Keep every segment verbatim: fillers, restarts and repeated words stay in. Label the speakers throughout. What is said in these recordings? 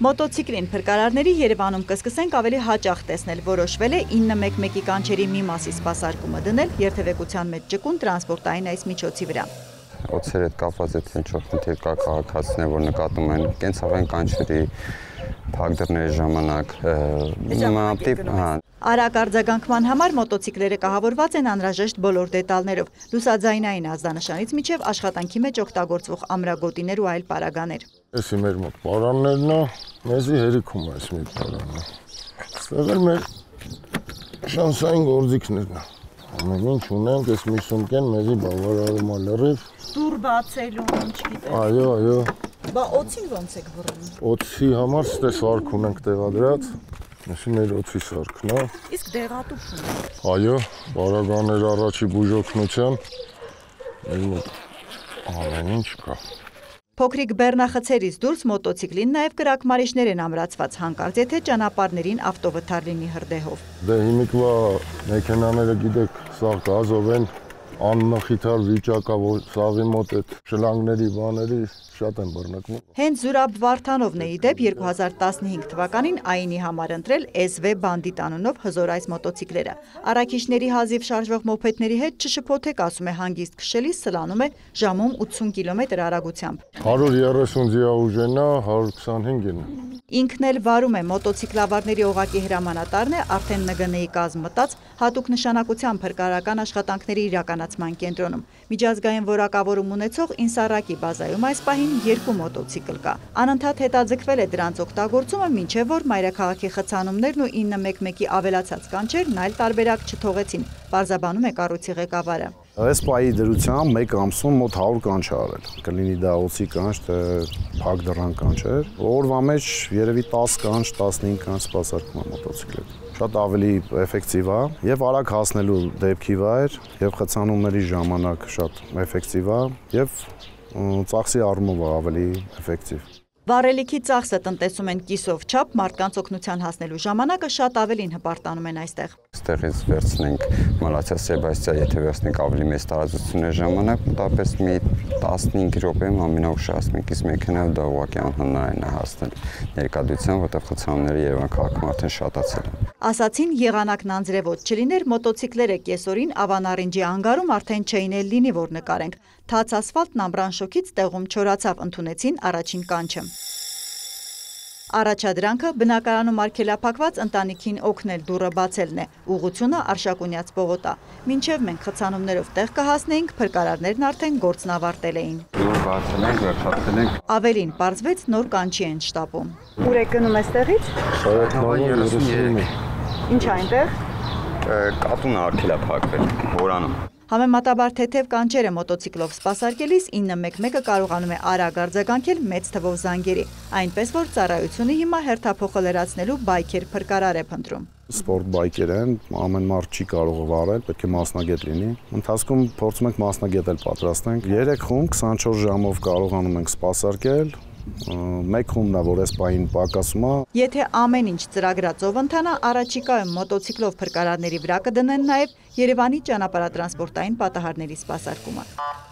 Speaker 1: Մոտոցիկլին փրկարարների Երևանում կսկսենք ավելի հաճախ տեսնել, որոշվել է ինը մեկ մեկի կանչերի մի մասի սպասարկումը դնել երթևեկության մեջ ճկուն տրանսպորտային այս միջոցի վրա։
Speaker 2: Օձեր հետ կապված այդ ինչ-որ խնդիր կա քաղաքացիներ, որ նկատում են կենցաղային կանչերի փակ դռների ժամանակ
Speaker 1: Արագ արձագանքման համար մոտոցիկլերը կահավորված են անհրաժեշտ բոլոր դետալներով՝ լուսաձայնային ազդանշանից մինչև աշխատանքի մեջ օգտագործվող ամրագոտիներ ու այլ պարագաներ։
Speaker 3: Էսի մեր մոտ պարաններն է, մեզի հերիքում է այս մի պարանը։ Ստեղ էլ մեր շանսային գործիքներն է։ Ամեն ինչ ունենք, այս մի սումկեն մեզի բավարարում է լրիվ։
Speaker 1: Դուռ բացելու, ինչ գիտեք։
Speaker 3: Այո, այո։
Speaker 1: Բա օձին ոնց եք վռում։
Speaker 3: Օձի համար ստե սարք ունենք տեղադրած։ Այսի մեր օձի սարքն է։
Speaker 1: Իսկ դեղատուփ ունեք։
Speaker 3: Այո, բարագաներ առաջի բուժօգնության։ Մեր մոտ ամեն ինչ կա։
Speaker 1: Փոքրիկ բեռնախցերից դուրս մոտոցիկլին նաև կրակմարիչներ են ամրացված, հանկարծ եթե ճանապարհներին ավտովթար լինի հրդեհով։
Speaker 3: Դե հիմիկվա մեքենաները գիտեք, սաղ գազով են, անմխիթար վիճակա, որ սաղի մոտ այդ շլանգների բաների շատ են բռնկվում։
Speaker 1: Հենց Զուրաբ Վարդանովն է ի դեպ երկու հազար տասնհինգ թվականին ԱԻՆ-ի համար ընտրել էս վի Բանդիտ անունով հզոր այս մոտոցիկլերը։ Առաքիչների հազիվ շարժվող մոփեդների հետ չշփոթեք, ասում է հանգիստ քշելիս սլանում է ժամում ութսուն կիլոմետր արագությամբ։
Speaker 3: հարյուր երեսուն դիաուժենն է, հարյուր քսանհինգն է։
Speaker 1: Ինքն էլ վարում է մոտոցիկլավարների օղակի հրամանատարն է, արդեն Ն Գ Ն-ի կազմ մտած հատուկ նշանակության փրկարարական աշխատանքների իրականացման կենտրոնում։ Միջազգային որակավորում ունեցող Ինսարակի բազայում այս պահին երկու մոտոցիկլ կա։ Անընդհատ հետաձգվել է դրանց օգտագործումը, մինչև որ մայրաքաղաքի խցանումներն ու ինը մեկ մեկի ավելացած կանչերն այլ տարբերակ չթողեցին, պարզաբանում է կառույցի ղեկավարը։
Speaker 4: Այս պահի դրությամբ մեկ ամսում մոտ հարյուր կանչ արել։ Կլինի դա օձի կանչ, թե փակ դռան կանչեր։ Օրվա մեջ երևի տասը կանչ, տասնհինգ կանչ սպասարկում է մոտոցիկլետ։ Շատ ավելի էֆեկտիվ է եւ արագ հասնելու դեպքի վայր եւ խցանումների ժամանակ շատ էֆեկտիվ է եւ ծախսի առումով ավելի էֆեկտիվ։
Speaker 1: Վառելիքի ծախսը տնտեսում են կիսով չափ, մարդկանց օգնության հասնելու ժամանակը շատ ավելին հպարտանում են այստեղ։
Speaker 2: Ստեղից վերցնենք Մալաթիա Սեբաստիա, եթե վերցնենք ավելի մեծ տարածությունների ժամանակ, մոտավորապես մի տասնհինգ րոպեում ամենաուշահաս մեկից մեքենայով դա ուղղակի անհնարին է հասնել ներկայությամբ, որտեղ խցանումները Երևան քաղաքում արդեն շատացել են։
Speaker 1: Ասացին եղանակն անձրևոտ չլիներ, մոտոցիկլերը կեսօրին Ավանարինջի անգարում արդեն չէին էլ լինի, որ նկարենք։ Թաց ասֆալտն ամռան շոքից տեղում չորացավ, ընդունեցին առաջին կանչը։ Առաջադրանքը բնակարանում արգելափակված ընտանիքին օգնել դուռը բացելն է, ուղղությունը Արշակունյաց պողոտա։ Մինչև մենք խցանումներով տեղ կհասնեինք, փրկարարներն արդեն գործն ավարտել էին։
Speaker 2: Դուռ բացել ենք, վերջացել ենք։
Speaker 1: Ավելին պարզվեց նոր կանչի են շտապում։ Ուր եք գնում այստեղից։ Ինչ այնտեղ։
Speaker 2: Կատուն արգելափակվել, հորանում։
Speaker 1: Համեմատաբար թեթև կանչերը մոտոցիկլով սպասարկելիս ինը մեկ մեկը կարողանում է արագ արձագանքել մեծ թվով զանգերի, այնպես որ ծառայությունը հիմա հերթափոխը լրացնելու բայքեր փրկարար է փնտրում։
Speaker 4: Սպորտ բայքեր են, ամեն մարդ չի կարող վարել, պետք է մասնագետ լինի։ Ընթացքում փորձում ենք մասնագետ էլ պատրաստենք։ երեք խումբ քսանչորս ժամով կարողանում ենք սպասարկել։ Մեկ խումբն է, որ այս պահին պակասում է։
Speaker 1: Եթե ամեն ինչ ծրագրածով ընթանա, առաջիկայում մոտոցիկլով փրկարարների վրա կդնեն նաև Երևանի ճանապարհատրանսպորտային պատահարների սպասարկումը։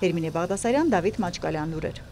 Speaker 1: Հերմինե Բաղդասարյան, Դավիթ Մաչկալյան, լուրեր։